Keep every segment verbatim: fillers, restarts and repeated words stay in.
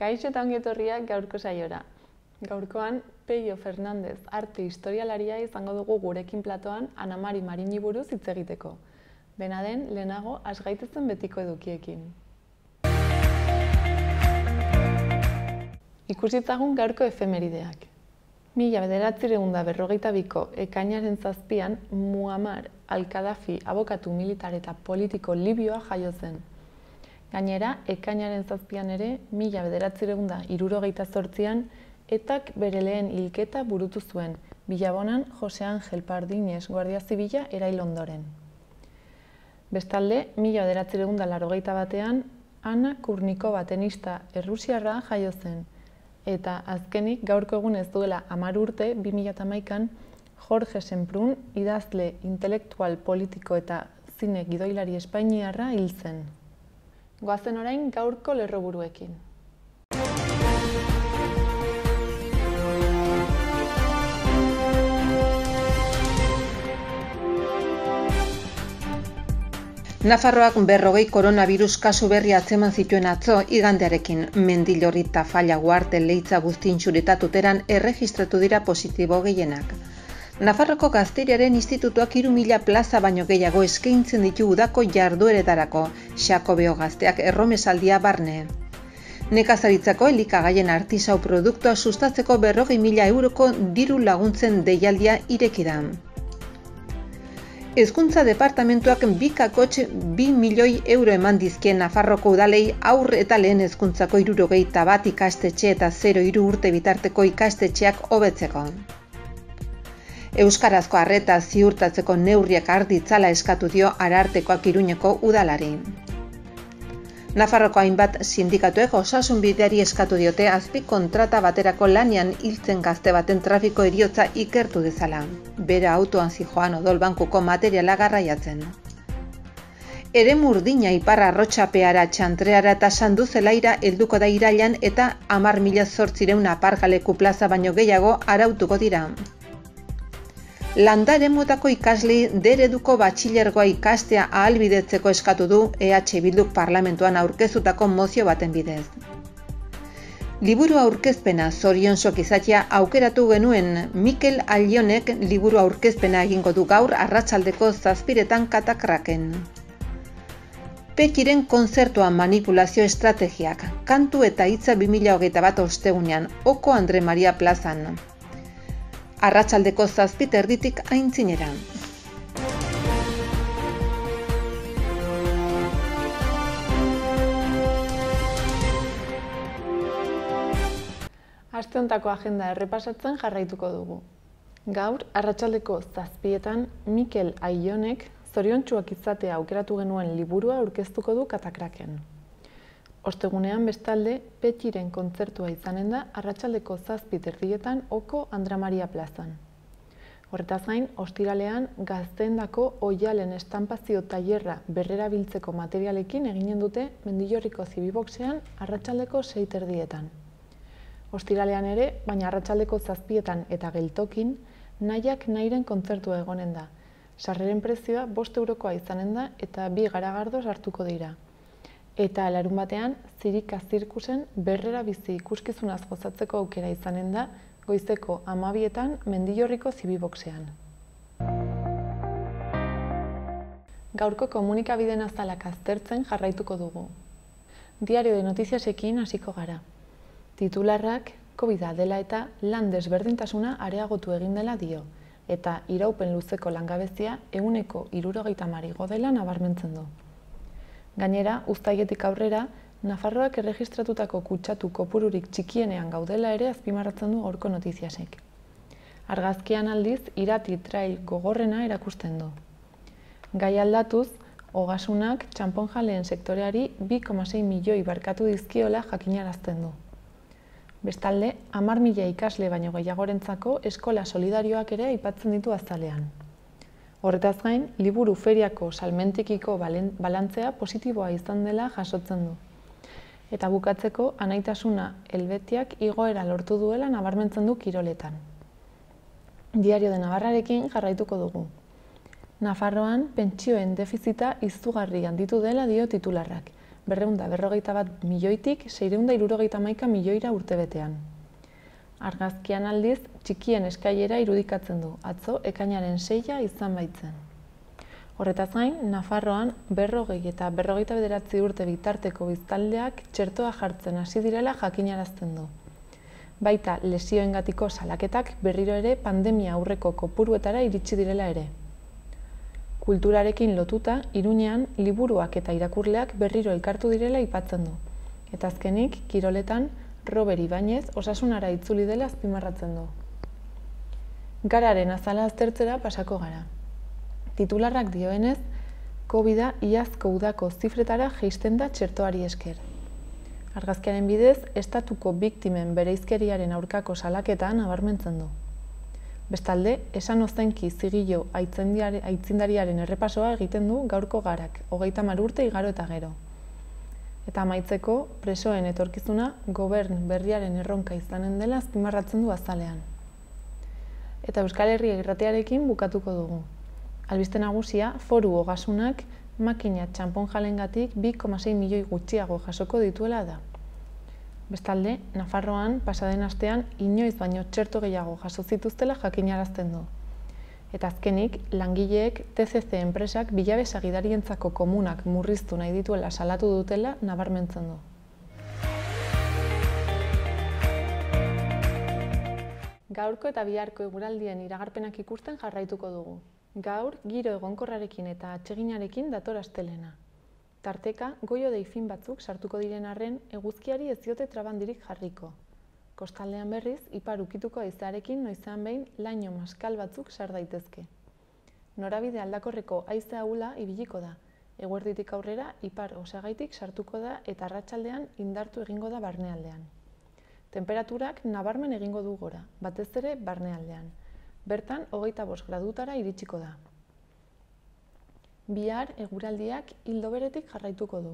Kaixo eta ongi etorriak gaurko saiora. Gaurkoan, Peio Fernandez arte historialaria izango dugu gurekin platoan Ana Mari Marini buruz hitz egiteko. Dena den, lehenago has gaitezen betiko edukiekin. Ikusitzagun gaurko efemerideak. Mila bederatziehun eta berrogeita biko ekainaren zazpian Muammar al-Kaddafi abokatu militar eta politiko libioa jaio zen. Gainera, ekainaren zazpian ere, mila bederatziehun eta hirurogeita zortzian etak bere lehen hilketa burutu zuen, Bilabonan Jose Angel Pardines Guardia Zibila erail ondoren. Bestalde, mila bederatziehun eta laurogeita batean Anna Kurnikova tenista errusiarra jaio zen, eta azkenik gaurko egun ez duela hamar urte, bi mila hamaikan, Jorge Semprún, idazle intelektual politiko eta zine gidoilari espainiarra hil zen. Goazen orain gaurko lerroburuekin. Nafarroak berrogei koronavirus kasu berri atzeman zituen atzo igandearekin. Mendillorri, Tafalla, Uarte, Leitza, Buztintxurita tuteran erregistratu dira positibo gehienak. Nafarroko Gazteriaren Institutuak hiru mila plaza baino gehiago eskaintzen ditu udako jardueretarako, Xakobeo Gazteak erromesaldia barne. Nekazaritzako elikagaien artisau produktua sustatzeko berrogei mila euroko diru laguntzen deialdia ireki da. Hezkuntza departamentuak bi kakotx bi milioi euro eman dizkien Nafarroko udalei haur eta lehen hezkuntzako hirurogeita bat ikastetxe eta zero hiru urte bitarteko ikastetxeak hobetzeko. Euskarazko arreta ziurtatzeko neurriak har ditzala eskatu dio Arartekoak Iruñeko udalari. Nafarroko hainbat sindikatuek osasunbideari eskatu diote azpikontrata baterako lanean hiltzen gazte baten trafiko heriotza ikertu dezala. Bere autoan zijoan odol bankuko materiala garraiatzen. Eremu urdina Ipar Arrotxapeara, Txantreara eta Sanduzelaira helduko da irailean eta hamar mila zortziehun aparkaleku plaza baino gehiago arautuko dira. Landa eremuetako ikaslei D ereduko batxilergoa ikastea ahalbidetzeko eskatu du E H Bilduk parlamentuan aurkeztutako mozio baten bidez. Liburu aurkezpena zorionzok izatea aukeratu genuen Mikel Alionek liburu aurkezpena egingo du gaur arratsaldeko zazpiretan Katakraken. Petiren kontzertua manipulazio estrategiak, kantu eta hitza bi mila hogeita bat ostegunean, Oko Andre Maria plazan. Arratsaldeko zazpit erditik aintzinera. Aste hontako agenda errepasatzen jarraituko dugu. Gaur, arratsaldeko zazpietan, Mikel Aionek zoriontsuak izatea aukeratu genuen liburua aurkeztuko du Katakraken. Ostegunean bestalde, Petiren kontzertua izanen da arratsaldeko zazpit erdietan Oko Andra Maria plazan. Horretaz gain, ostiralean gazteendako oialen estampazio tailerra berrerabiltzeko materialekin eginen dute Mendillorriko Zibiboxean arratsaldeko sei erdietan. Ostiralean ere, baina arratsaldeko zazpietan eta geltokin, nahiak nahiren kontzertua egonen da. Sarreren prezioa bost eurokoa izanen da eta bi garagardoz hartuko dira. Eta larun batean, Zirika Zirkusen berrera bizi ikuskizunaz gozatzeko aukera izanen da goizeko hamabietan Mendillorriko Zibiboxean. Gaurko komunikabideen azalak aztertzen jarraituko dugu. Diario de Notiziasekin hasiko gara. Titularrak Covida dela eta lan desberdintasuna areagotu egin dela dio, eta iraupen luzeko langabezia ehuneko hirurogeita hamar igo dela nabarmentzen du. Gainera, uztailetik aurrera, Nafarroak erregistratutako kutsatu kopururik txikienean gaudela ere azpimarratzen du gaurko Notiziasek. Argazkian aldiz, irati trail gogorrena erakusten du. Gai aldatuz, ogasunak txanponjaleen sektoreari bi koma sei milioi barkatu dizkiola jakinarazten du. Bestalde, hamar mila ikasle baino gehiagorentzako eskola solidarioak ere aipatzen ditu azalean. Horretaz gain, liburu feriako salmentikiko balantzea positiboa izan dela jasotzen du. Eta bukatzeko, anaitasuna helbetiak igoera lortu duela nabarmentzen du kiroletan. Diario de Navarrarekin jarraituko dugu. Nafarroan pentsioen defizita izugarri handitu dela dio titularrak, berrehun eta berrogeita bat milioitik seiehun eta hirurogeita hamaika milioira urtebetean. Argazkian aldiz, txikien eskailera irudikatzen du, atzo ekainaren seia izan baitzen. Horretaz gain, Nafarroan berrogei eta berrogeita bederatzi urte bitarteko biztanleak txertoa jartzen hasi direla jakinarazten du. Baita lesioengatiko salaketak berriro ere pandemia aurreko kopuruetara iritsi direla ere. Kulturarekin lotuta, Iruñean liburuak eta irakurleak berriro elkartu direla aipatzen du. Eta azkenik, kiroletan, Robert Ibañez osasunara itzuli dela azpimarratzen du. Gararen azala aztertzera pasako gara. Titularrak dioenez, Covida iazko udako zifretara jeisten da txertoari esker. Argazkiaren bidez, estatuko biktimen bereizkeriaren aurkako salaketa nabarmentzen du. Bestalde, esan ozenki zigilo aitzindariaren errepasoa egiten du gaurko garak, hogeita hamar urte igaro eta gero. Eta amaitzeko, presoen etorkizuna gobern berriaren erronka izanen dela azpimarratzen du azalean. Eta Euskal Herria irratiarekin bukatuko dugu. Albiste nagusia, Foru Ogasunak makina txanponjalengatik bi koma sei milioi gutxiago jasoko dituela da. Bestalde, Nafarroan pasaden astean inoiz baino txerto gehiago jaso zituztela jakinarazten du. Eta azkenik, langileek T C C enpresak bilabe sagidarientzako komunak murriztu nahi dituela salatu dutela nabarmentzen du. Gaurko eta biharko eguraldien iragarpenak ikusten jarraituko dugu. Gaur, giro egonkorrarekin eta atseginarekin dator astelena. Tarteka, goi-hodei fin batzuk sartuko diren arren, eguzkiari ez diote trabandirik jarriko. Kostaldean berriz, ipar ukituko haizearekin noizean behin laino maskal batzuk sar daitezke. Norabide aldakorreko haize ahula ibiliko da. Eguerditik aurrera, ipar osagaitik sartuko da eta arratsaldean indartu egingo da barnealdean. Temperaturak nabarmen egingo du gora, batez ere barnealdean. Bertan, hogeita bost gradutara iritsiko da. Bihar, eguraldiak ildo beretik jarraituko du.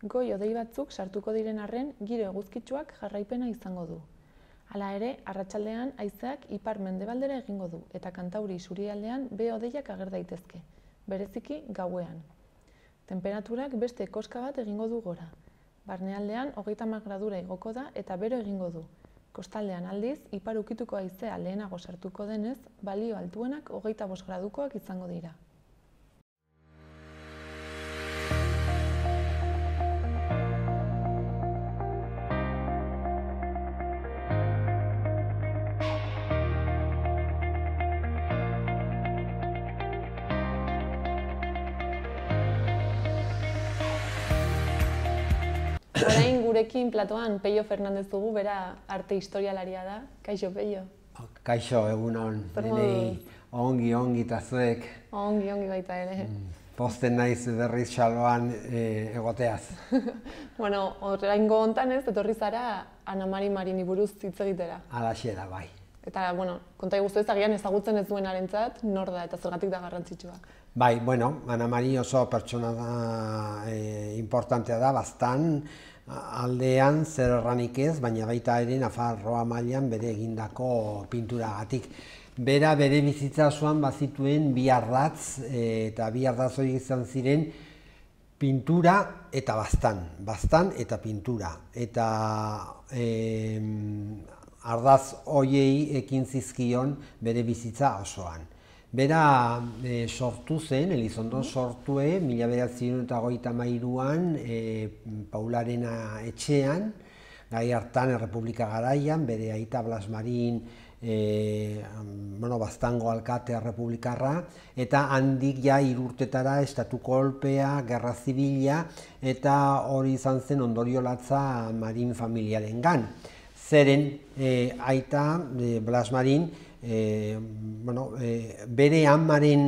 Goi-hodei batzuk sartuko diren arren, giro eguzkitsuak jarraipena izango du. Hala ere, arratsaldean haizeak ipar mendebaldera egingo du, eta Kantauri isurialdean behe-hodeiak ager daitezke, bereziki gauean. Temperaturak beste koska bat egingo du gora. Barnealdean, hogeita hamar gradura igoko da eta bero egingo du. Kostaldean aldiz, ipar ukituko haizea lehenago sartuko denez, balio altuenak hogeita bost gradukoak izango dira. Orain gurekin platoan Peio Fernandez dugu, bera arte historialaria da. Kaixo, Peio. Kaixo, egunon. Denei ongi, ongi eta zuek. Ongi, ongi baita ere. Posten naiz berriz xaloan egoteaz. Bueno, oraingo hontan ez, etorri zara Ana Mari Marini buruz hitz egitera. Halaxe da, bai. Eta, bueno, konta iguzu ez, agian ezagutzen ez duenarentzat, nor da eta zergatik da garrantzitsua. Bai, bueno, Ana Mari oso pertsona da, importantea da, bastan, aldean zer erranik ez, baina baita ere Nafarroa mailan bere egindako pinturagatik. Bera bere bizitza osoan bazituen bi ardatz, eta bi ardatz horiek izan ziren pintura eta bastan, bastan eta pintura. Eta ardaz horiei ekin zizkion bere bizitza osoan. Bera sortu zen, Elizondo sortue, mila bederatziehun eta hogeita hamairuan Paularena etxean, gai hartan Errepublika garaian, bere aita Blas Marin, Baztango alkate errepublikarra, eta handik ja hirurtetara estatu kolpea, gerra zibila, eta hori izan zen ondorio latza Marin familiarengan. Zeren aita Blas Marin, bere amaren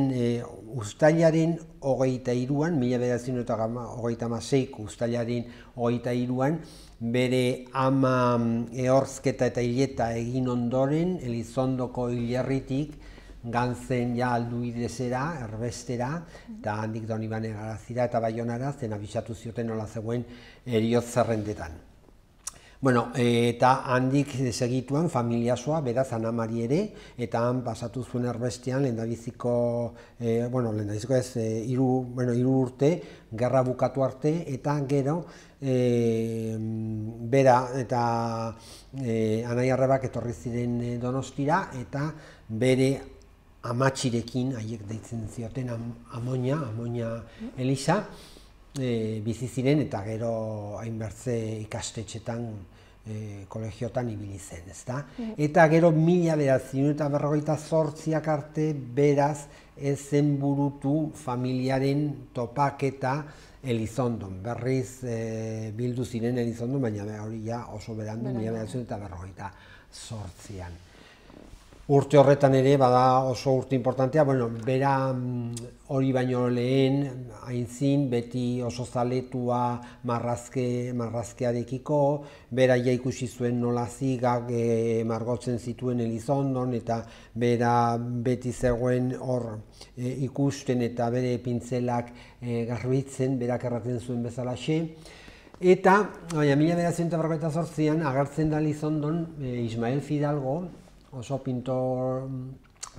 uztailaren hogeita hiruan, mila bederatziehun eta hogeita hamaseiko uztailaren hogeita hiruan, bere ama ehorzketa eta hileta egin ondoren, Elizondoko hilerritik gantzen ja alduidezera, erbestera, eta handik Donibane Garazira eta Baionara, zen abisatu zioten nola zegoen heriotz zerrendetan. Bueno, eta handik segituan familiasoa, beraz Anamari ere, eta han pasatu zuen erbestean lehendabiziko, e, bueno, lehendabiziko ez, e, iru, bueno, iru urte, gerra bukatu arte, eta gero, e, bera eta e, Anai Arrebak etorri ziren Donostira, eta bere amatxirekin, haiek deitzen zioten Amoña, Amoña Elisa, E, bizi ziren eta gero hainbertze ikastetxetan, e, kolegiotan ibili zen, ezta? Mm. Eta gero mila bederatziehun eta berrogeita zortziak arte beraz ez zen burutu familiaren topaketa Elizondon. Berriz e, bildu ziren Elizondon, baina hori ja oso berandu, mila bederatziehun eta berrogeita zortzian. Urte horretan ere, bada oso urte importantea, bueno, bera hori baino lehen, aintzin, beti oso zaletua marrazke, marrazkearekiko, bera ja ikusi zuen nola zigak e, margotzen zituen Elizondon, eta bera beti zegoen hor e, ikusten eta bere pintzelak e, garbitzen, berak erraten zuen bezalaxe. Eta, baina, mila bederatziehun eta berrogeita zortzian agertzen da Elizondon e, Ismael Fidalgo, oso pintor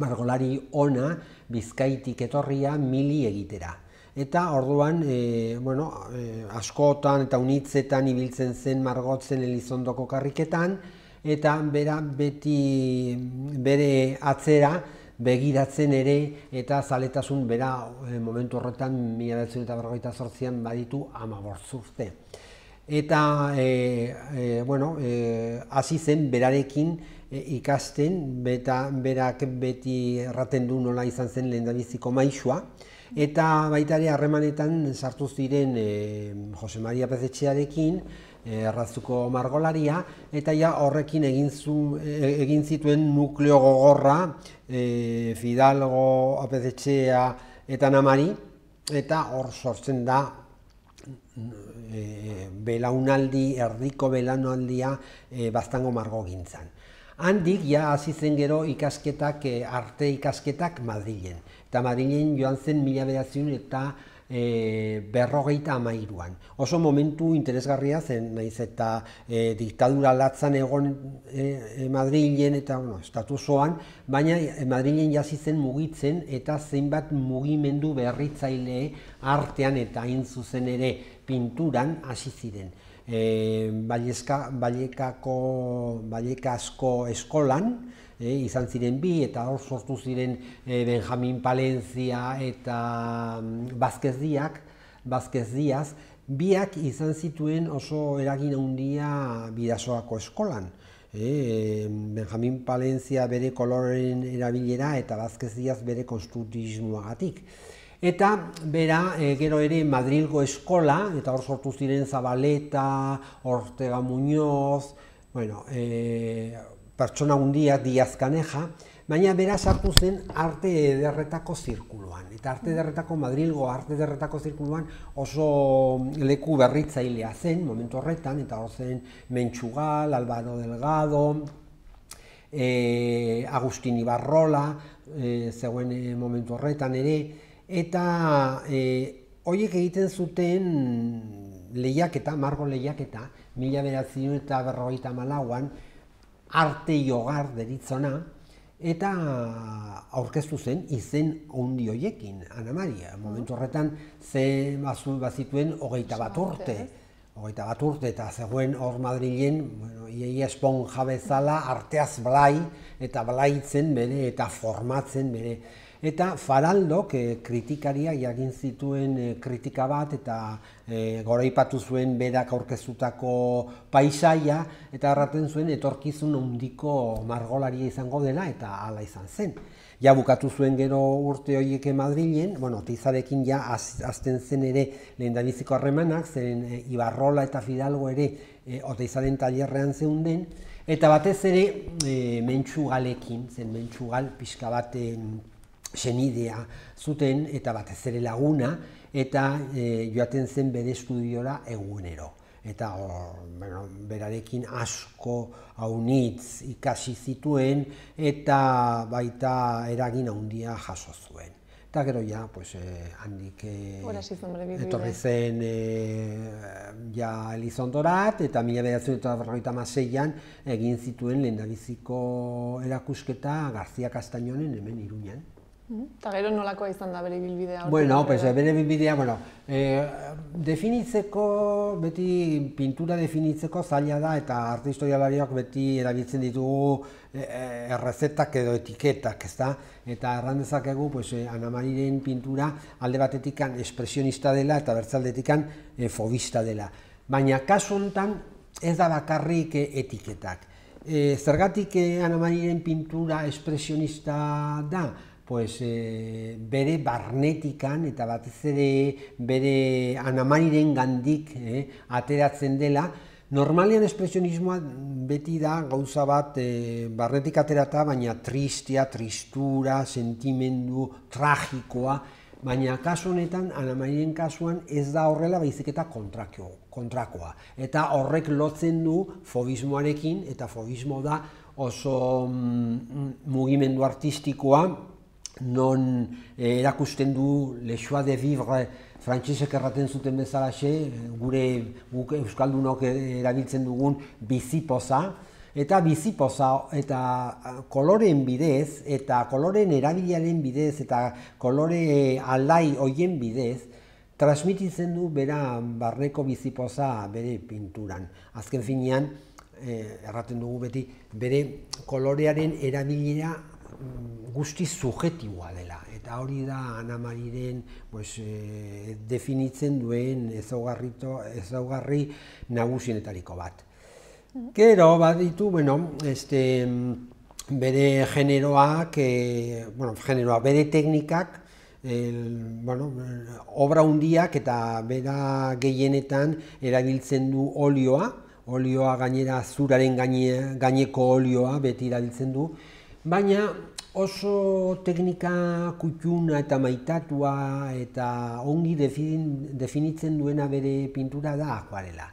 margolari ona, Bizkaitik etorria mili egitera. Eta orduan, e, bueno, e, askotan eta unitzetan ibiltzen zen margotzen Elizondoko karriketan, eta bera beti bere atzera begiratzen ere, eta zaletasun bera e, momentu horretan mila bederatziehun eta berrogeita zortzian baditu hamabost urte. Eta, e, e, bueno, e, hasi zen berarekin ikasten, beta berak beti erraten du nola izan zen lehendabiziko maisua, eta baita ere harremanetan sartu ziren e, Jose Maria Pezetxearekin, e, errazuko margolaria, eta ja horrekin egin, zu, e, egin zituen nukleo gogorra e, Fidalgo, Pezetxea eta Anamari, eta hor sortzen da e, belaunaldi, erdiko belaunaldia e, Baztango margogintzan. Handik ja hasi zen gero ikasketak, arte ikasketak Madrilen. Eta Madrilen joan zen mila bederatziehun eta e, berrogeita hamairuan. Oso momentu interesgarria zen, naiz eta e, diktadura latzan egon e, Madrilen eta bueno, estatusoan, baina Madrilen hasi zen mugitzen eta zeinbat mugimendu berritzaile artean eta hain zuzen ere pinturan hasi ziren. E, Balekako, Balekasko eskolan, e, izan ziren bi, eta hor sortu ziren e, Benjamin Palencia eta Vázquez Díaz, Vázquez Díaz, biak izan zituen oso eragin handia Bidasoako eskolan. E, Benjamin Palencia bere koloren erabilera eta Vázquez Díaz bere konstruktismoagatik. Eta bera e, gero ere Madrilgo eskola, eta hor sortu ziren Zabaleta, Ortega Muñoz, bueno, e, pertsona hundiak, Díaz Caneja, baina bera sartu zen arte ederretako zirkuluan. Eta arte ederretako, Madrilgo arte ederretako zirkuluan oso leku berritzailea zen, momentu horretan, eta hor zen Mentxugal, Álvaro Delgado, e, Agustin Ibarrola, e, zegoen e, momentu horretan ere, eta e, horiek egiten zuten lehiaketa, margo lehiaketa, mila bederatziehun eta berrogeita hamalauan, arte jogar deritzona, eta aurkeztu zen izen handi horiekin, Anamari. Momentu horretan ze bazituen hogeita bat urte. Hogeita bat urte eta zegoen hor Madrilen, bueno, iaia esponja bezala arteaz blai, eta blaitzen bere, eta formatzen bere. Eta Faraldok e, kritikariak egin zituen e, kritika bat eta e, goraipatu zuen berak aurkeztutako paisaia eta erraten zuen etorkizun handiko margolaria izango dela eta hala izan zen. Ja bukatu zuen gero urte horiek Madrilen, bueno, Oteizarekin ja azten zen ere lehendabiziko harremanak, zeren e, Ibarrola eta Fidalgo ere e, Oteizaren tailerrean zeunden, eta batez ere e, Mentxugalekin, zen Mentxugal pixka bat senidea zuten eta batez ere laguna, eta e, joaten zen bere estudiora egunero. Eta or, bueno, berarekin asko haunitz ikasi zituen eta baita eragin handia jaso zuen. eta gero ja, pues, eh, handik eh, etorri zen eh, ja Elizondorat, eta mila bederatziehun eta berrogeita hamaseian egin zituen lehendabiziko erakusketa Garzia Castañonen hemen Iruñan. Eta gero nolakoa izan da bere bilbidea? Bueno, pues, bere bilbidea, bueno, eh, definitzeko, beti pintura definitzeko zaila da, eta arte historialariak beti erabiltzen ditugu eh, errezetak edo etiketak, ezta? Eta erran dezakegu, pues, eh, Ana Mariren pintura alde batetikan espresionista dela eta bertzaldetikan eh, fobista dela. Baina kasu honetan ez da bakarrik eh, etiketak. Eh, zergatik eh, Ana Mariren pintura espresionista da? Pues, eh, bere barnetikan eta batez ere bere Ana Mariren gandik eh, ateratzen dela. Normalean espresionismoa beti da gauza bat eh, barnetik aterata, baina tristia, tristura, sentimendu, tragikoa, baina kasu honetan, Ana Mariren kasuan ez da horrela baizik eta kontrakoa. Eta horrek lotzen du fobismoarekin, eta fobismo da oso mm, mugimendu artistikoa, non eh, erakusten du le joie de vivre frantsesek erraten zuten bezalaxe, gure guk euskaldunok erabiltzen dugun bizipoza, eta bizipoza eta koloreen bidez, eta koloreen erabilaren bidez, eta kolore alai hoien bidez, transmititzen du bera barneko bizipoza bere pinturan. Azken finean, eh, erraten dugu beti, bere kolorearen erabilera guzti subjektiboa dela, eta hori da Ana Mariren pues, eh, definitzen duen ezaugarri nagusienetariko bat. Gero baditu, bueno, este, bere generoak, eh, bueno, generoak, bere teknikak, el, bueno, obra hundiak eta bera gehienetan erabiltzen du olioa, olioa gainera zuraren gaine, gaineko olioa beti erabiltzen du, baina oso teknika kutxuna eta maitatua eta ongi definitzen duena bere pintura da akuarela.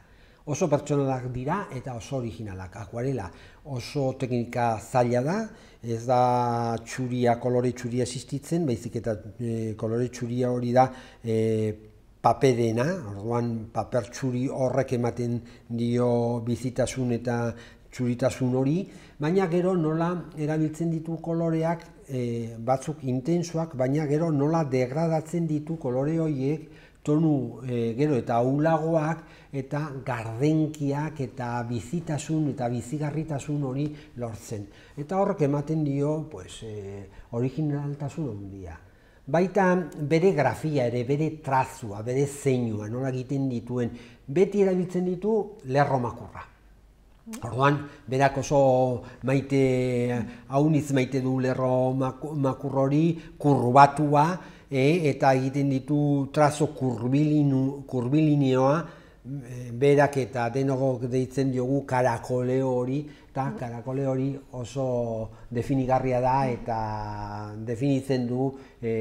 Oso pertsonalak dira eta oso originalak. Akuarela oso teknika zaila da, ez da txuria, kolore txuria existitzen, baizik eta e, kolore txuria hori da e, paperena, orduan paper txuri horrek ematen dio bizitasun eta txuritasun hori, baina gero nola erabiltzen ditu koloreak, e, batzuk intensoak, baina gero nola degradatzen ditu kolore horiek, tonu e, gero eta ahulagoak eta gardenkiak eta bizitasun eta bizigarritasun hori lortzen. Eta horrek ematen dio pues, e, originaltasun handia. Baita bere grafia ere, bere trazua, bere zeinua, nola egiten dituen, beti erabiltzen ditu lerro makurra. Orduan, berak oso maite, haunitz maite du lerro makur hori, kurbatua, e, eta egiten ditu trazo kurbilinioa, berak eta denogok deitzen diogu karakoleo hori, eta karakole hori oso definigarria da eta definitzen du, e,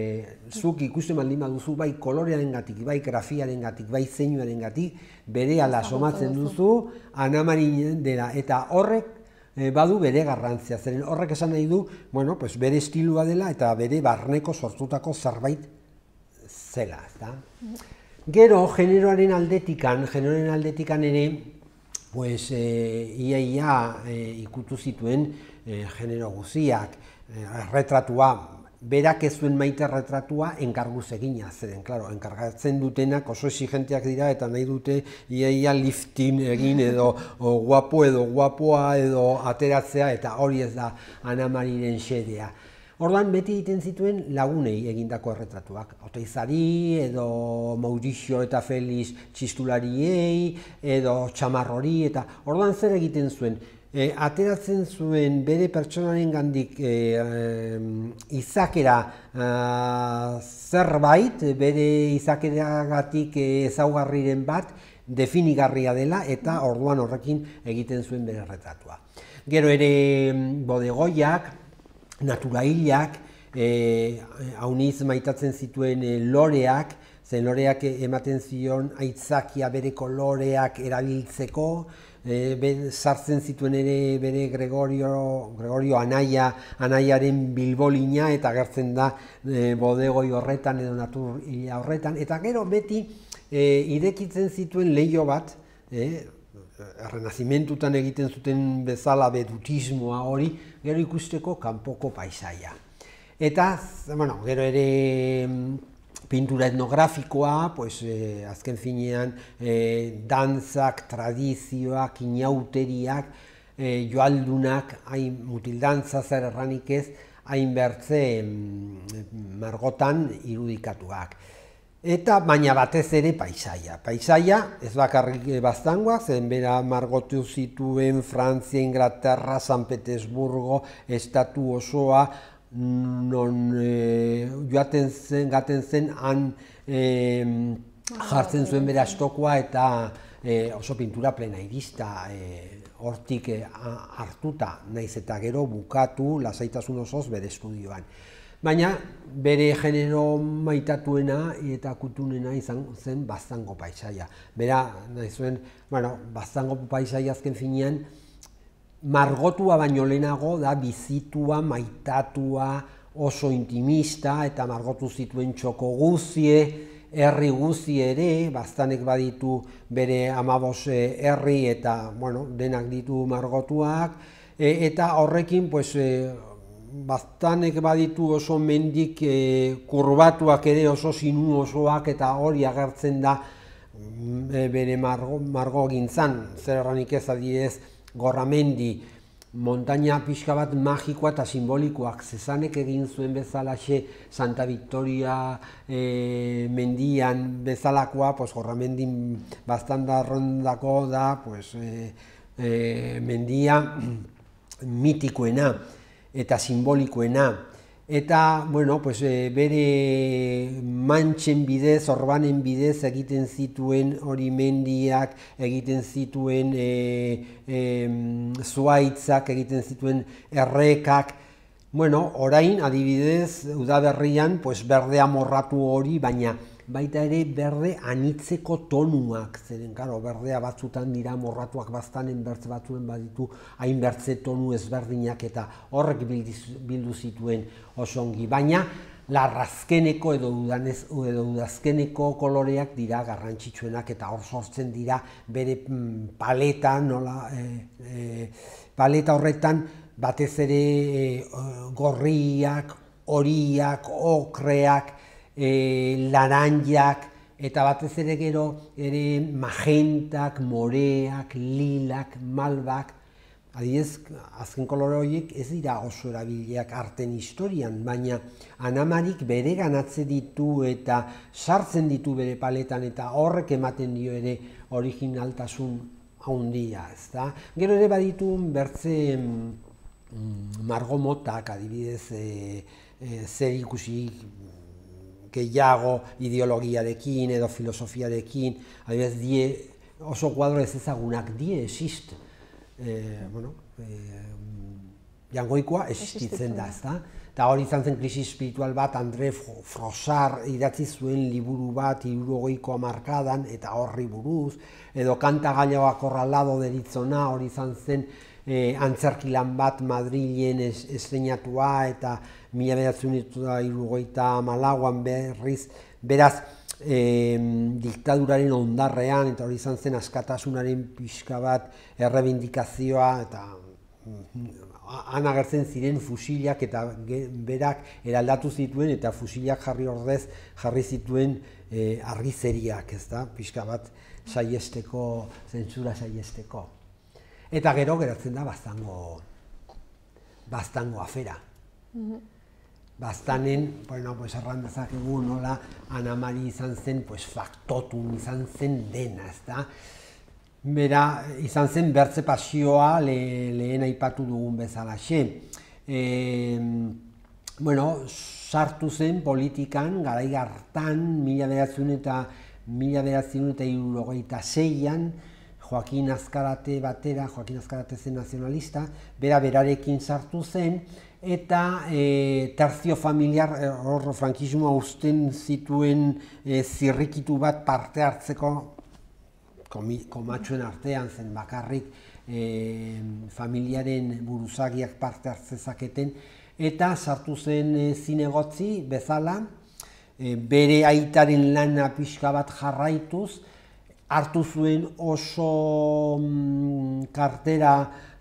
zuk ikusten baldin baduzu bai kolorearen gatik, bai grafiaren gatik, bai zeinuaren gatik, bere ala somatzen duzu Ana Mariren dela, eta horrek e, badu bere garrantzia, zeren horrek esan nahi du, bueno, pues bere estilua dela eta bere barneko sortutako zerbait zela, ezta? Gero, generoaren aldetikan, generoaren aldetikan ere, pues, e, ia ia e, ikutu zituen e, genero guziak, e, retratua, berak ez zuen maite retratua enkarguz egina, zeren, klaro, enkargatzen dutenak oso exigenteak dira eta nahi dute ia ia liftin egin edo o, guapo edo guapoa edo ateratzea, eta hori ez da Ana Mariren xedea. Orduan beti egiten zituen lagunei egindako erretratuak. Oteizari, edo Mauricio eta Felix txistulariei, edo Txamarrori, eta orduan zer egiten zuen? E, ateratzen zuen bere pertsonaren gandik e, e, izakera e, zerbait, bere izakeragatik ezaugarriren bat, definigarria dela, eta orduan horrekin egiten zuen bere erretratua. Gero ere bodegoiak, naturailak, hauniz maitatzen zituen loreak, zen loreak ematen zion aitzakia bere koloreak erabiltzeko, sartzen zituen ere bere Gregorio, Gregorio anaia, anaiaren bilbolina, eta agertzen da bodegoi horretan edo natur horretan, eta gero beti irekitzen zituen leiho bat, errenazimentutan egiten zuten bezala bedutismoa hori, gero ikusteko kanpoko paisaia. Eta, bueno, gero ere pintura etnografikoa, pues, eh, azken finean, eh, dantzak, tradizioak, inauteriak, eh, joaldunak, hain mutildantza zer erranik ez, hain bertze margotan irudikatuak. Eta baina batez ere paisaia. Paisaia, ez bakarrik Baztangoak, zen bera margotu zituen Frantzia, Inglaterra, San Petersburgo, estatu osoa, non joaten zen, gaten zen, han jartzen zuen bere astokoa eta oso pintura plena irista hortik hartuta, naiz eta gero bukatu lasaitasun osoz bere estudioan. Baina bere genero maitatuena eta kutunena izan zen Baztango paisaia. Bera, nahi zuen, bueno, Baztango paisaia azken finean, margotua baino lehenago da bizitua, maitatua, oso intimista, eta margotu zituen txoko guzie, herri guzi ere, Baztanek baditu bere amabos herri eta, bueno, denak ditu margotuak, eta horrekin, pues, Baztanek baditu oso mendik kurbatuak ere oso sinu osoak, eta hori agertzen da bere margo gintzan, zer erranik ez adidez, Gorramendi, montaña pixka bat magikoa eta simbolikoak, zezanek egin zuen bezalaxe Santa Victoria mendian bezalakoa, pues Gorramendin Baztandarrondako da, pues, mendia mitikoena eta simbolikoena. Eta, bueno, pues, bere mantxen bidez, orbanen bidez egiten zituen hori mendiak, egiten zituen zuaitzak, egiten zituen errekak. Bueno, orain, adibidez, udaberrian, pues, berde amorratu hori, baina baita ere berde anitzeko tonuak, zeren, karo, berdea batzutan dira amorratuak Baztanen bertze batzuen baditu, hain bertze tonu ezberdinak eta horrek bildu zituen oso ongi. Baina, larrazkeneko edo udazkeneko koloreak dira garrantzitsuenak eta hor sortzen dira bere paleta, nola, paleta horretan batez ere gorriak, horiak, okreak, laranjak, eta batez ere gero ere magentak, moreak, lilak, malbak. Adibidez, azken kolore horiek ez dira oso erabiliak arten historian, baina Anamarik bere ganatze ditu eta sartzen ditu bere paletan, eta horrek ematen dio ere originaltasun handia, ezta? Gero ere baditu bertze margo motak, adibidez, zer ikusi gehiago ideologiarekin edo filosofiarekin, adibidez, die oso kuadro ez ezagunak, die exist. Bueno, jangoikoa existitzen da, ezta? Eta hori izan zen krisi espiritual bat, André Frossard idatzi zuen liburu bat hirurogeiko hamarkadan, eta horri buruz, edo Kanta Gallego Acorralado deritzona, hori izan zen antzerkilan bat Madrilen estreinatua, eta mila bederatziehun eta hirurogeita hamalauan berriz, beraz, diktaduraren ondarrean, eta hori izan zen askatasunaren pixka bat errebindikazioa, eta han agertzen ziren fusilak eta berak eraldatu zituen, eta fusilak jarri ordez jarri zituen argizeriak, ez da, pixka bat saiesteko, zentsura saiesteko. Eta gero geratzen da Baztango, Baztango afera. Baztanen, bueno, pues erran dezakegu nola Anamari izan zen, pues faktotun izan zen dena, ez da? Bera, izan zen bertze pasioa lehen aipatu dugun bezalaxe. Bueno, sartu zen politikan, garai hartan, mila bederatziehun eta mila bederatziehun eta hirurogeita seian, Joaquin Azkarate batera, Joaquin Azkarate zen nazionalista, bera berarekin sartu zen, eta e, terzio familiar, hor frankismoa uzten zituen e, zirrikitu bat parte hartzeko komatxoen artean zen bakarrik e, familiaren buruzagiak parte hartzezaketen, eta sartu zen e, zinegotzi bezala, e, bere aitaren lana pixka bat jarraituz, hartu zuen oso mm, kartera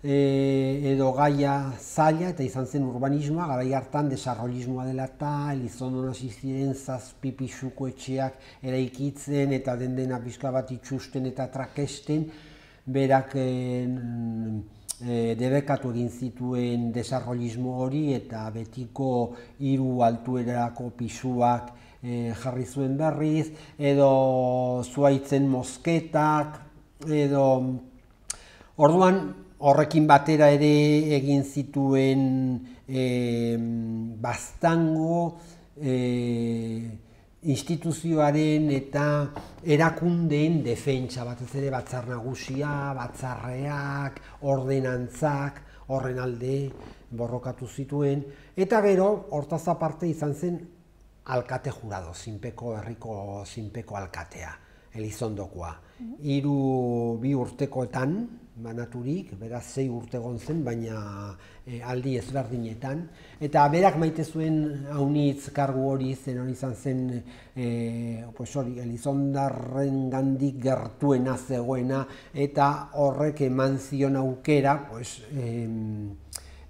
e, edo gaia zaila, eta izan zen urbanismoa, garai hartan desarrollismoa dela eta Elizondon hasi ziren zazpi pisuko etxeak eraikitzen eta den dena pixka bat itxusten eta trakesten, berak e, e, debekatu egin zituen desarrollismo hori eta betiko hiru altuerako pisuak E, jarri zuen berriz, edo zuaitzen mosketak, edo orduan horrekin batera ere egin zituen e, baztango e, instituzioaren eta erakundeen defentsa, batez ere batzar nagusia, batzarreak, ordenantzak, horren alde borrokatu zituen, eta gero hortaz aparte izan zen alkate jurado, zinpeko herriko zinpeko alkatea, Elizondokoa. Hiru bi urtekoetan banaturik, beraz sei urte egon zen, baina e, aldi ezberdinetan. Eta berak maite zuen haunitz kargu hori, zen hori izan zen e, pues hori, Elizondarren gandik gertuena zegoena, eta horrek eman zion aukera pues, e,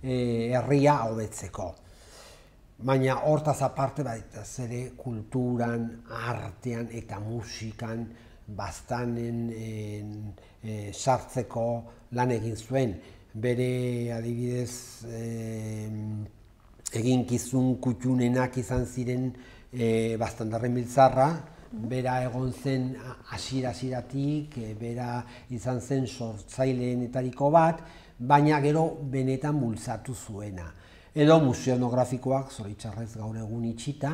e, herria hobetzeko. Baina hortaz aparte baita ere kulturan, artean eta musikan baztanen e, sartzeko lan egin zuen. Bere adibidez e, eginkizun kutxunenak izan ziren e, Baztandarren biltzarra, bera egon zen hasiera-hasieratik, e, bera izan zen sortzaileenetariko bat, baina gero benetan bultzatu zuena. Edo museonografikoak, zoritxarrez gaur egun itxita,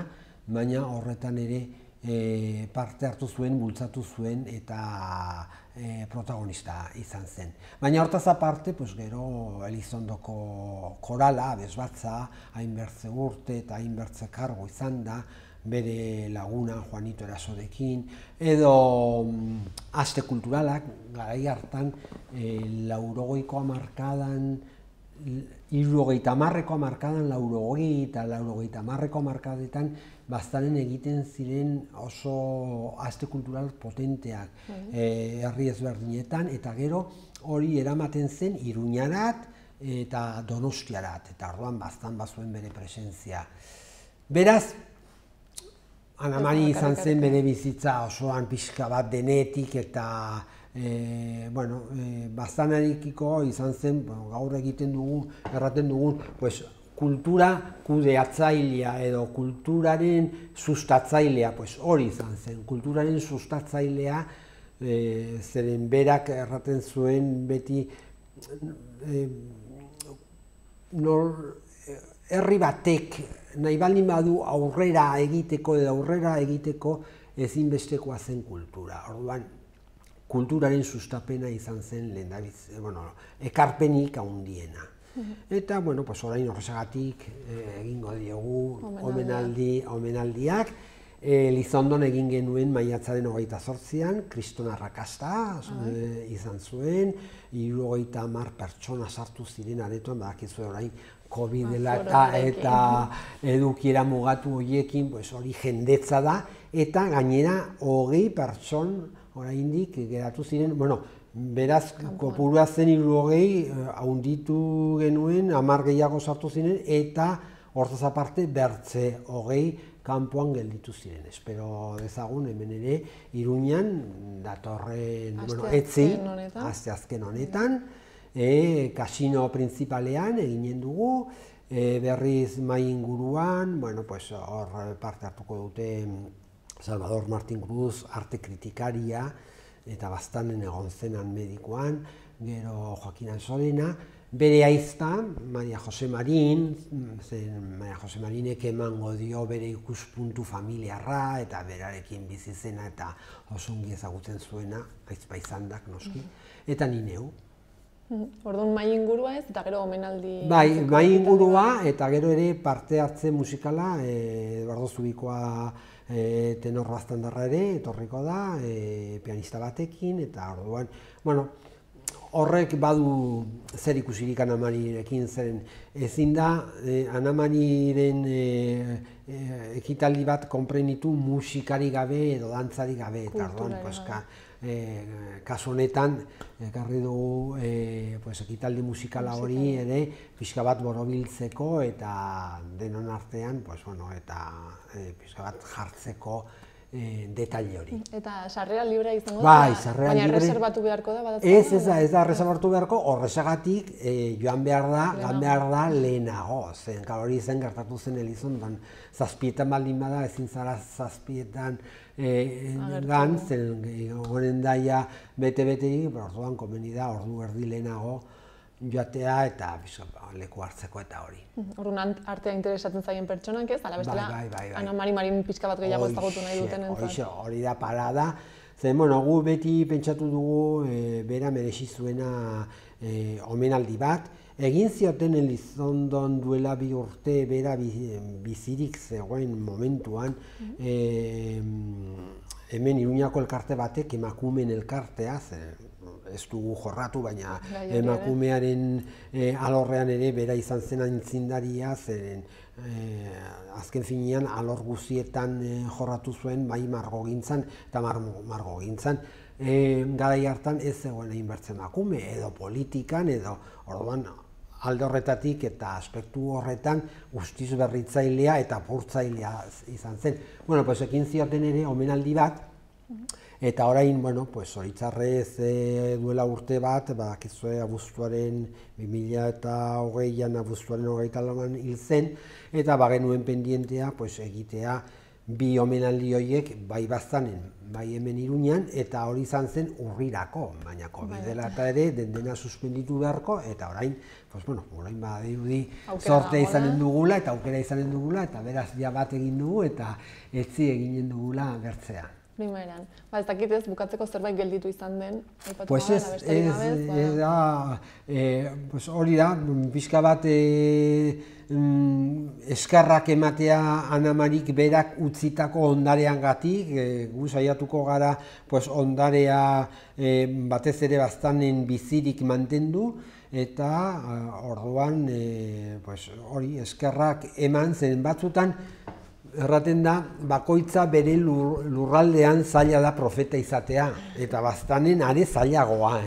baina horretan ere e, parte hartu zuen, bultzatu zuen eta e, protagonista izan zen. Baina hortaz aparte, pues, gero Elizondoko korala, abesbatza, hainbertze urte eta hainbertze kargo izan da, bere laguna Juanito Erasorekin, edo mm, aste kulturalak, garai hartan, e, laurogeiko hamarkadan, hirurogeita hamarreko hamarkadan, laurogei eta laurogeita hamarreko hamarkadetan baztanen egiten ziren oso aste kultural potenteak herri ezberdinetan, eta gero hori eramaten zen Iruñarat eta Donostiarat, eta orduan baztan bazuen bere presentzia. Beraz, Ana Mari izan zen bere bizitza osoan pixka bat denetik eta E, bueno, e, baztanarikiko izan zen, bueno, gaur egiten dugun, erraten dugun, pues, kultura kudeatzailea edo kulturaren sustatzailea, pues, hori izan zen, kulturaren sustatzailea, e, zeren berak erraten zuen beti e, nor, herri batek nahi baldin badu aurrera egiteko edo aurrera egiteko ezinbestekoa zen kultura. Orduan, kulturaren sustapena izan zen lehendabiz, bueno, ekarpenik handiena. Eta, bueno, pues, orain horrezagatik egingo diogu omenaldi, omenaldiak. Elizondon egin genuen maiatzaren hogeita zortzian, kriston arrakasta e, izan zuen, hirurogeita hamar pertsona sartu ziren aretoan, badakizu orain COVID dela eta, eta edukiera mugatu horiekin, pues, hori jendetza da, eta gainera hogei pertson oraindik geratu ziren, bueno, beraz kopurua zen hirurogei, haunditu genuen, hamar gehiago sartu ziren, eta hortaz aparte bertze hogei kanpoan gelditu ziren. Espero dezagun hemen ere Iruñan datorren, bueno, etzi, asteazken honetan, e, kasino printzipalean eginen dugu, e, berriz mai inguruan, bueno, pues hor parte hartuko dute Salvador Martín Cruz, arte kritikaria, eta baztanen egon zenan medikoan, gero Joaquin Ansolena, bere aizta, Maria Jose Marin, zen Maria Jose Marinek emango dio bere ikuspuntu familiarra, eta berarekin bizi zena eta oso ongi ezagutzen zuena, aizpa izandak noski, eta ni neu. Orduan mai ingurua ez, eta gero omenaldi... Bai, mai ingurua, eta gero ere parte hartze musikala, Eduardo Zubikoa tenor baztandarra ere, etorriko da, pianista batekin, eta orduan, bueno, horrek badu zer ikusirik Ana Marirekin, zeren ezin da Ana Mariren ekitaldi bat konprenitu musikari gabe edo dantzari gabe, eta orduan, kasu honetan, ekarri dugu ekitaldi musikala hori ere pixka bat borobiltzeko eta denon artean, eta pixka bat jartzeko detaile hori. Eta sarrera librea izango da? Bai, sarrera libre. Baina reservatu beharko da? Ez, ez da, ez da reservatu beharko, horrexagatik joan behar da, joan behar da lehenago. Zen, hori zen gertatu zen Elizon, zazpietan baldin bada, ezin zara zazpietan gan, zen goren daia bete-beterik, orduan komeni da, ordu erdi lehenago joatea eta leku hartzeko eta hori. Orduan artea interesatzen zaien pertsonak ez, ala bestela Ana Mari Marin pixka bat gehiago ezagutu nahi duten entzat. Hori da parada, zen, bueno, gu beti pentsatu dugu bera merezi zuena omenaldi bat. Egin zioten Elizondon duela bi urte bera bizirik zegoen momentuan, hemen Iruñako elkarte batek emakumeen elkartea, ez dugu jorratu, baina emakumearen alorrean ere bera izan zen aintzindaria, zeren azken finean alor guztietan jorratu zuen bai margogintzan eta margogintzan. Garai hartan ez zegoen egin bertzen emakume edo politikan edo orduan alde horretatik eta aspektu horretan guztiz berritzailea eta apurtzailea izan zen. Bueno, pues ekin zioten ere omenaldi bat, eta orain, bueno, pues horitzarrez duela urte bat, bakizue abuztuaren bi mila hogeian abuztuaren hogeita lauan hil zen, eta bagenuen pendientea pues egitea bi omenaldi horiek bai baztanen, bai hemen Iruñan, eta hori izan zen urrirako, baina COVID dela eta ere dendena suspenditu beharko, eta orain, pues bueno, orain badirudi sortea izanen dugula, eta aukera izanen dugula, eta beraz ja bat egin dugu, eta etzi eginen dugula bertzea. Primeran. Ba, ez dakit ez, bukatzeko zerbait gelditu izan den, aipatu pues ez, ez da, hori da, pixka bat eskarrak ematea Ana Marik berak utzitako ondarean gatik, gu saiatuko gara ondarea batez ere baztanen bizirik mantendu, eta orduan hori eskarrak eman zen batzutan, erraten da, bakoitza bere lurraldean zaila da profeta izatea, eta baztanen are zailagoa.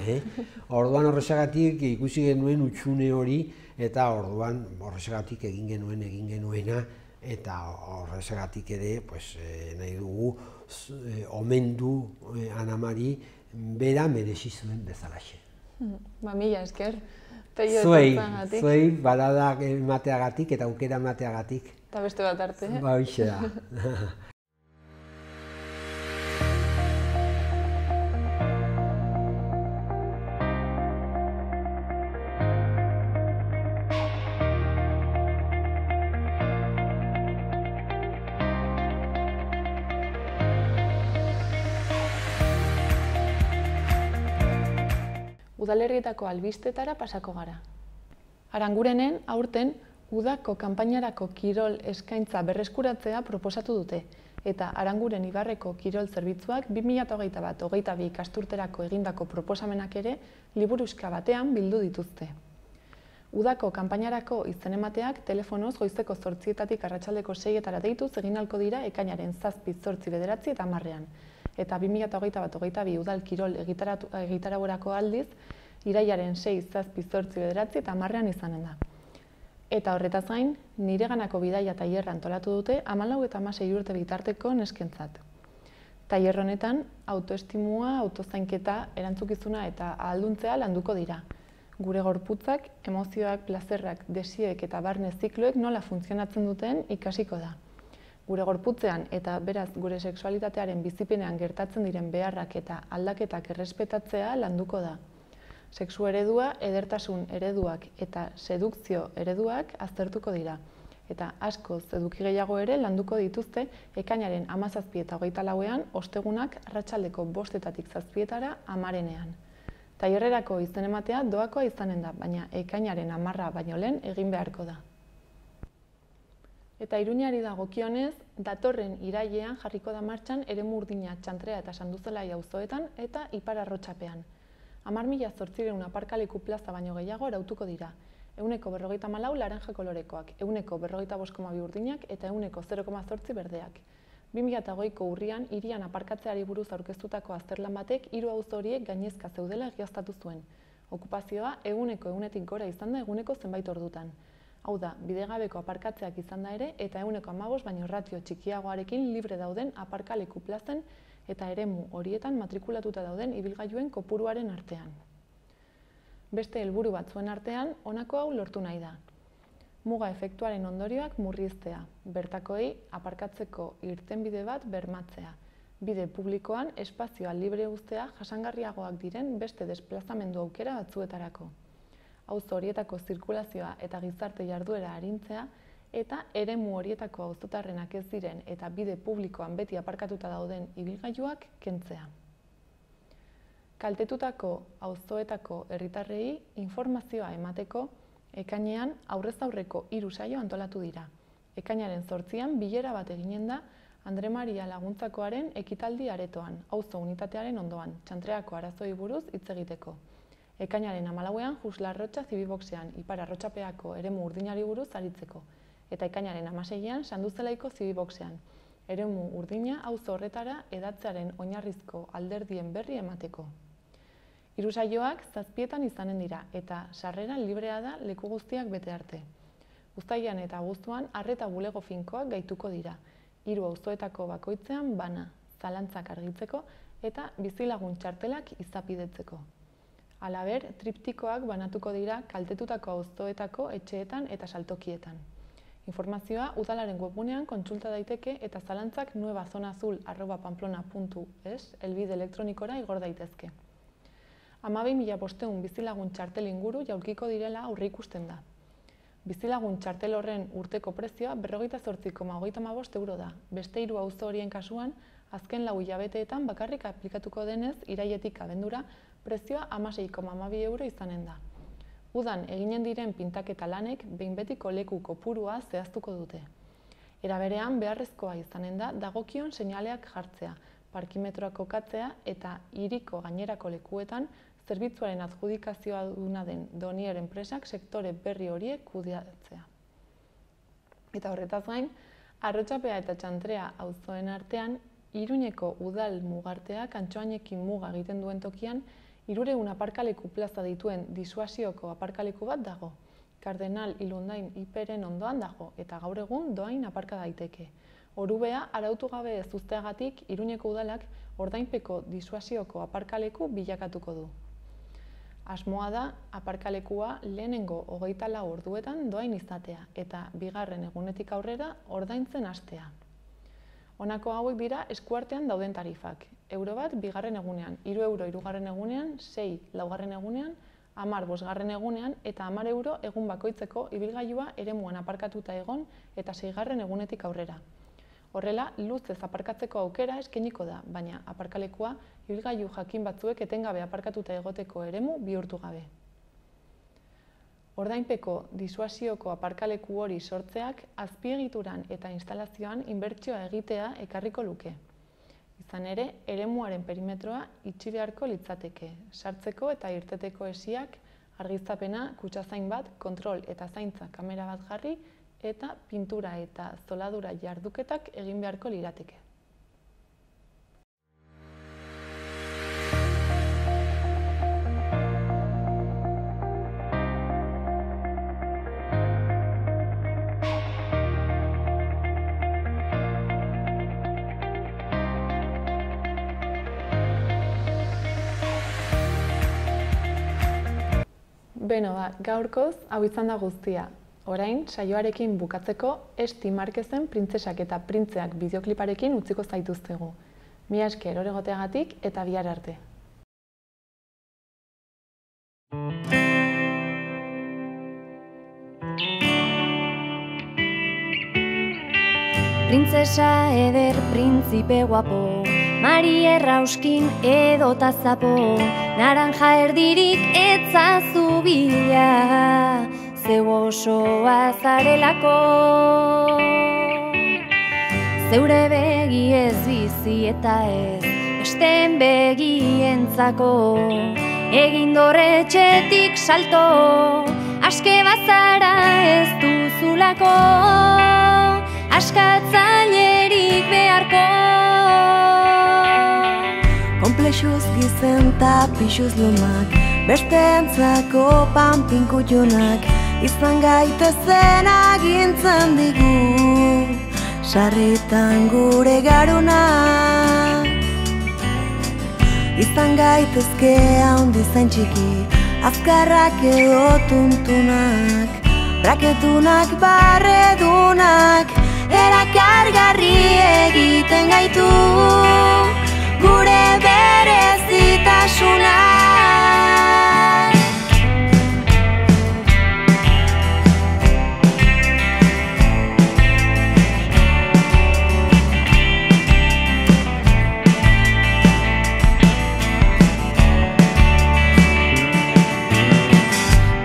Orduan horrexagatik ikusi genuen utxune hori, eta orduan horrexagatik egin genuen egin genuena, eta horrexagatik ere nahi dugu omendu Ana Mari bera merezi zuen bezalaxe. Ba, mila esker. Zuei, zuei baladak emateagatik eta aukera emateagatik. Eta beste bat arte. Ba, hoxe da. Udalerrietako albistetara pasako gara. Arangurenen aurten udako kanpainarako kirol eskaintza berreskuratzea proposatu dute, eta Aranguren Ibarreko kirol zerbitzuak bi mila hogeita bat hogeita bi ikasturterako egindako proposamenak ere liburuxka batean bildu dituzte. Udako kanpainarako izen emateak telefonoz goizeko zortzietatik arratsaldeko seietara deituz egin ahalko dira ekainaren zazpi, zortzi, bederatzi eta hamarrean. Eta bi mila hogeita bat hogeita bi udal kirol egitaragorako aldiz, irailaren sei, zazpi, zortzi, bederatzi eta hamarrean izanen da. Eta horretaz gain, nireganako bidaia tailerra antolatu dute hamalau eta hamasei urte bitarteko neskentzat. Tailer honetan, autoestimua, autozainketa, erantzukizuna eta ahalduntzea landuko dira. Gure gorputzak, emozioak, plazerrak, desioek eta barne zikloek nola funtzionatzen duten ikasiko da. Gure gorputzean eta beraz gure sexualitatearen bizipenean gertatzen diren beharrak eta aldaketak errespetatzea landuko da. Sexu eredua, edertasun ereduak eta sedukzio ereduak aztertuko dira. Eta askoz eduki gehiago ere landuko dituzte ekainaren hamazazpi eta hogeita lauean ostegunak arratsaldeko bostetatik zazpietara hamarenean. Tailerrerako izen ematea doakoa izanen da, baina ekainaren hamarra baino lehen egin beharko da. Eta Iruñari dagokionez, datorren irailean jarriko da martxan eremu urdina Txantrea eta Sanduzelai auzoetan eta Ipar Arrotxapean. Hamar mila zortziehun aparkaleku plaza baino gehiago arautuko dira. Ehuneko berrogeita hamalau laranja kolorekoak, ehuneko berrogeita bost koma bi urdinak eta ehuneko zero koma zortzi berdeak. bi mila hogeiko urrian hirian aparkatzeari buruz aurkeztutako azterlan batek hiru auzo horiek gainezka zeudela egiaztatu zuen. Okupazioa ehuneko ehunetik gora izan da eguneko zenbait ordutan. Hau da, bidegabeko aparkatzeak izan da ere eta ehuneko hamabost baino ratio txikiagoarekin libre dauden aparkaleku plazen eta eremu horietan matrikulatuta dauden ibilgailuen kopuruaren artean. Beste helburu batzuen artean, honako hau lortu nahi da. Muga efektuaren ondorioak murriztea, bertakoei aparkatzeko irtenbide bat bermatzea, bide publikoan espazioa libre uztea jasangarriagoak diren beste desplazamendu aukera batzuetarako. Auzo horietako zirkulazioa eta gizarte jarduera arintzea eta eremu horietako auzotarrenak ez diren eta bide publikoan beti aparkatuta dauden ibilgailuak kentzea. Kaltetutako auzoetako herritarrei informazioa emateko ekainean aurrez aurreko hiru saio antolatu dira. Ekainaren zortzian bilera bat eginen da Andre Maria Laguntzakoaren ekitaldi aretoan, auzo unitatearen ondoan, Txantreako arazoei buruz hitz egiteko. Ekainaren hamalauean Juslarrotxa Zibiboxean, Ipar Arrotxapeako eremu urdinari buruz aritzeko. Eta ekainaren hamaseian Sanduzelaiko Zibiboxean, eremu urdina auzo horretara edatzearen oinarrizko alderdien berri emateko. Hiru saioak zazpietan izanen dira eta sarrera librea da leku guztiak bete arte. Uztailean eta abuztuan arreta bulego finkoak gaituko dira, hiru auzoetako bakoitzean bana, zalantzak argitzeko eta bizilagun txartelak izapidetzeko. Halaber, triptikoak banatuko dira kaltetutako auzoetako etxeetan eta saltokietan. Informazioa udalaren webgunean kontsulta daiteke eta zalantzak nuevazonazul arroba pamplona puntu es helbide elektronikora igor daitezke. hamabi mila bostehun bizilagun txartel inguru jaulkiko direla aurreikusten da. Bizilagun txartel horren urteko prezioa berrogeita zortzi koma hogeita hamabost euro da. Beste hiru auzo horien kasuan, azken lau hilabeteetan bakarrik aplikatuko denez irailetik abendura prezioa hamasei koma hamabi euro izanen da. Udan eginen diren pintaketa lanek behin betiko leku kopurua zehaztuko dute. Era berean beharrezkoa izanen da dagokion seinaleak jartzea, parkimetroak kokatzea eta hiriko gainerako lekuetan zerbitzuaren adjudikazioa duna den Donier enpresak sektore berri horiek kudeatzea. Eta horretaz gain, Arrotxapea eta Txantrea auzoen artean, Iruñeko udal mugarteak Antxoainekin muga egiten duen tokian, hirurehun aparkaleku plaza dituen disuasioko aparkaleku bat dago. Kardenal Ilundain Iperen ondoan dago eta gaur egun doain aparka daiteke. Orubea arautu gabe ez uzteagatik Iruñeko udalak ordainpeko disuasioko aparkaleku bilakatuko du. Asmoa da aparkalekua lehenengo hogeita lau orduetan doain izatea eta bigarren egunetik aurrera ordaintzen hastea. Honako hauek dira eskuartean dauden tarifak. Euro bat bigarren egunean, hiru euro hirugarren egunean, sei laugarren egunean, hamar bosgarren egunean eta hamar euro egun bakoitzeko ibilgailua eremuan aparkatuta egon eta seigarren egunetik aurrera. Horrela, luzez aparkatzeko aukera eskainiko da, baina aparkalekua ibilgailu jakin batzuek etengabe aparkatuta egoteko eremu bihurtu gabe. Ordainpeko disuasioko aparkaleku hori sortzeak azpiegituran eta instalazioan inbertsioa egitea ekarriko luke. Izan ere, eremuaren perimetroa itxi beharko litzateke, sartzeko eta irteteko hesiak, argiztapena, kutxazain bat, kontrol eta zaintza kamera bat jarri, eta pintura eta zoladura jarduketak egin beharko lirateke. Beno, ba, gaurkoz hau izan da guztia. Orain, saioarekin bukatzeko Esti Marquezen Printzesak eta Printzeak bideokliparekin utziko zaituztegu. Mila esker oregoteagatik eta bihar arte. Printzesa eder, printzipe guapo, Mari errauskin edota zapo, naranja erdirik etzazu bila, zeu osoa zarelako. Zeure begi ez bizi eta ez, besteen begientzako, egin dorretxetik salto, aske bazara ez duzulako, askatzailerik beharko. Komplexuz gizen ta pixuz lumak, besteentzako panpinkutxunak, izan gaitezen agintzen digu, sarritan gure garunak. Izan gaitezke haundi zain txiki, azkarrak edo tuntunak, braketunak, barredunak, erakargarri egiten gaitu gure berezitasunak.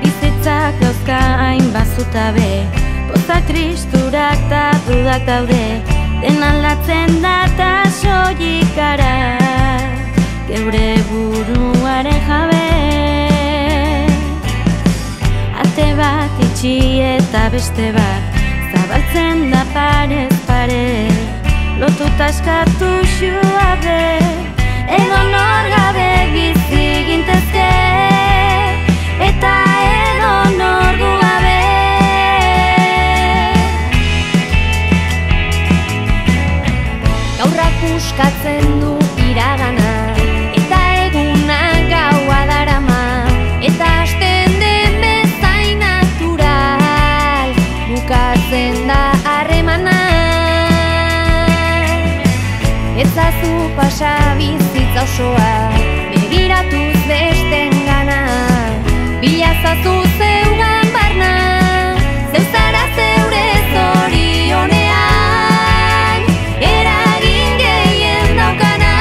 Bizitzak dauzka hain bazutabe, pozak tristurak ta dudak daude, den aldatzen da ta soilik gara, geure buruaren jabe. Ate bat itxi eta beste bat, zabaltzen da parez pare, lotuta eskatu xuabe, edo nor gabe bizi gintezke, eta edo nor gu gabe. Gaurrak puskatzen du iragana, eta egunak gaua darama, eta hasten den bezain natural, bukatzen da harremana. Ezazu pasa bizitza osoa, begiratuz besten gana, bilazazu zeugan barna, zeu zara zeure zorionean, eragin gehien daukana.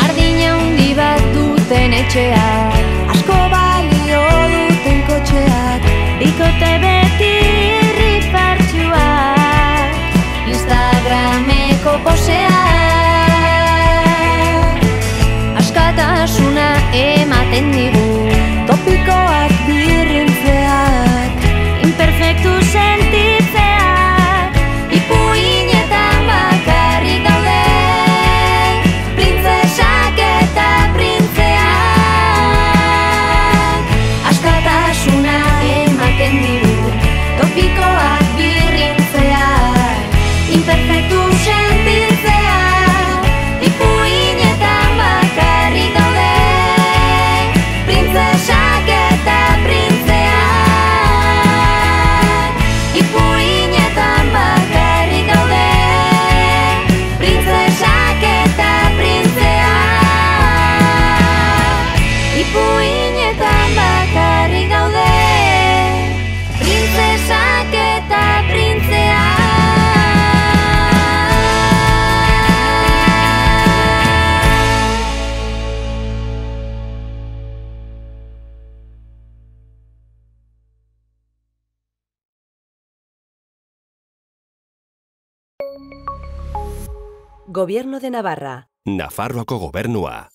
Jardina handi bat duten etxeak, asko balio duten kotxeak, bikote beti irrifartxuak, Instagrameko poseak, askatasuna ematen digu, topikoak birrintzeak, imperfektu sentitzeak, ipuinetan bakarrik daude, printzesak eta printzeak, askatasuna ematen digu, topikoak birrintzeak, imperfektu sentitzeak, ipuinetan bakarrik daude, printzesak eta printzeak, ipuinetan bakarrik daude, printzesak eta printzeak, ipuinetan bakarrik daude, printzesak eta printzeak. Gobierno de Navarra. Nafarroako gobernua.